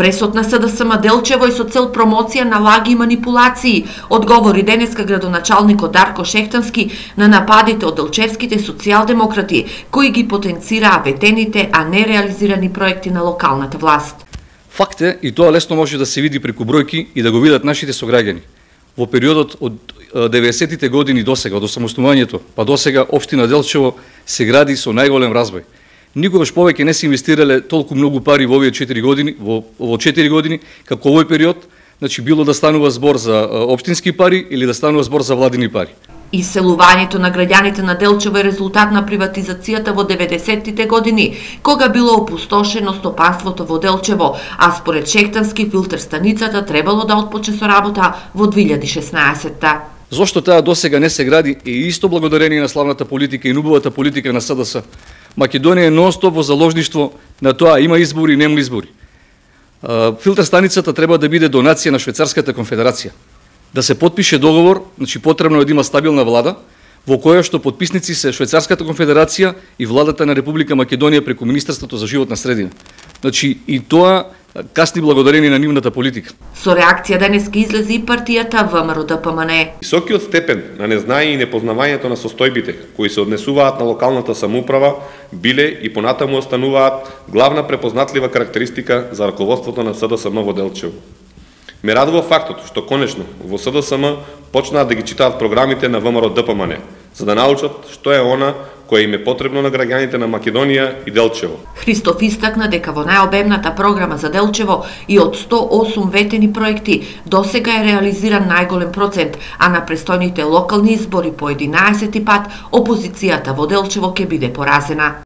Пресот на СДСМ Делчево е со цел промоција на лаги и манипулации, одговори денеска градоначалникот Дарко Шехтански на нападите од делчевските социјалдемократи, кои ги потенцираа ветените, а не реализирани проекти на локалната власт. Факт е, и тоа лесно може да се види преку бројки и да го видат нашите сограѓани. Во периодот од 90-тите години до сега, од осамоснувањето, па до сега општина Делчево се гради со најголем разбој. Никогаш повеќе не се инвестирале толку многу пари во овие 4 години, во 4 години, како овој период, значи било да станува збор за општински пари или да станува збор за владини пари. Иселувањето на граѓаните на Делчево е резултат на приватизацијата во 90-тите години, кога било опустошено стопанството во Делчево, а според Шехтански филтер станицата требало да отпочне со работа во 2016-та. Зошто таа досега не се гради е исто благодарение на славната политика и нубавата политика на СДС. Македонија е нон-стоп во заложништво на тоа има избори, нема избори. Филтер станицата треба да биде донација на Швајцарската конфедерација. Да се потпише договор, значи потребно е да има стабилна влада, во која што потписници се Швајцарската конфедерација и владата на Република Македонија преку Министерството за животна средина. Значи и тоа касни благодарение на нивната политика. Со реакција денеска излезе и партијата ВМРО-ДПМН. Високиот степен на незнање и непознавањето на состојбите кои се однесуваат на локалната самоуправа биле и понатаму остануваат главна препознатлива карактеристика за раководството на СДСМ во Делчево. Ме радува фактот што конечно во СДСМ почнаа да ги читаат програмите на ВМРО-ДПМН, за да научат што е она кое им е потребно на граѓаните на Македонија и Делчево. Христоф истакна дека во најобемната програма за Делчево и од 108 ветени проекти досега е реализиран најголем процент, а на престојните локални избори по 11 пат опозицијата во Делчево ќе биде поразена.